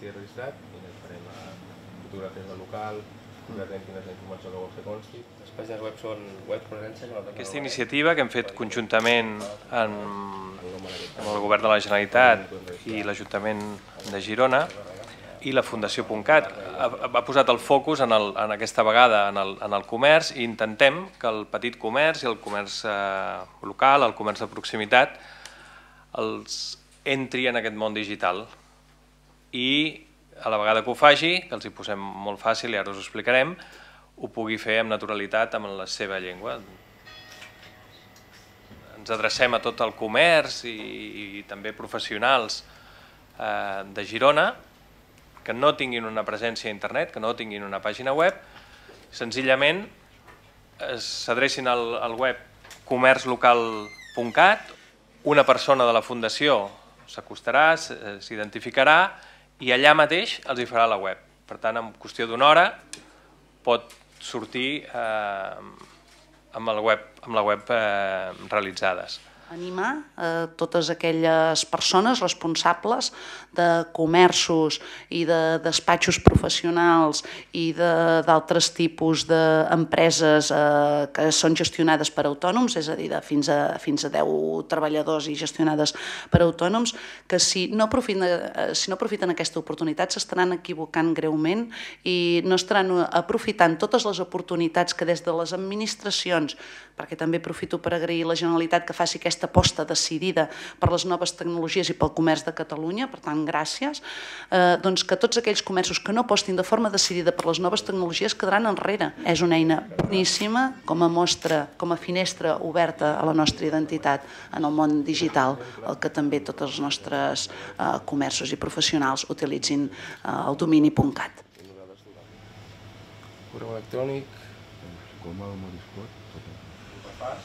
estigui registrat i farem fotografies del local, concretament quina és la informació que vols que consti. Les pàgines web són web presència. Aquesta iniciativa que hem fet conjuntament amb el Govern de la Generalitat i l'Ajuntament de Girona i la Fundació.cat ha posat el focus en aquesta vegada en el comerç i intentem que el petit comerç i el comerç local, el comerç de proximitat, els entri en aquest món digital i a la vegada que ho faci, que els hi posem molt fàcil i ara us ho explicarem, ho pugui fer amb naturalitat amb la seva llengua. Ens adrecem a tot el comerç i també professionals de Girona que no tinguin una presència a internet, que no tinguin una pàgina web, senzillament s'adrecin al web comerçlocal.cat, una persona de la Fundació s'acostarà, s'identificarà i allà mateix els hi farà la web. Per tant, en qüestió d'una hora pot sortir amb la web realitzades. Animar totes aquelles persones responsables de comerços i de despatxos professionals i d'altres tipus d'empreses que són gestionades per autònoms, és a dir, fins a 10 treballadors i gestionades per autònoms, que si no aprofiten aquesta oportunitat s'estaran equivocant greument i no estaran aprofitant totes les oportunitats que des de les administracions, perquè també aprofito per agrair a la Generalitat que faci aquesta aposta decidida per les noves tecnologies i pel comerç de Catalunya, per tant, gràcies, doncs que tots aquells comerços que no apostin de forma decidida per les noves tecnologies quedaran enrere. És una eina boníssima com a mostra, com a finestra oberta a la nostra identitat en el món digital, el que també tots els nostres comerços i professionals utilitzin el domini .cat. Correu electrònic. Com el Moriscot. Repàs.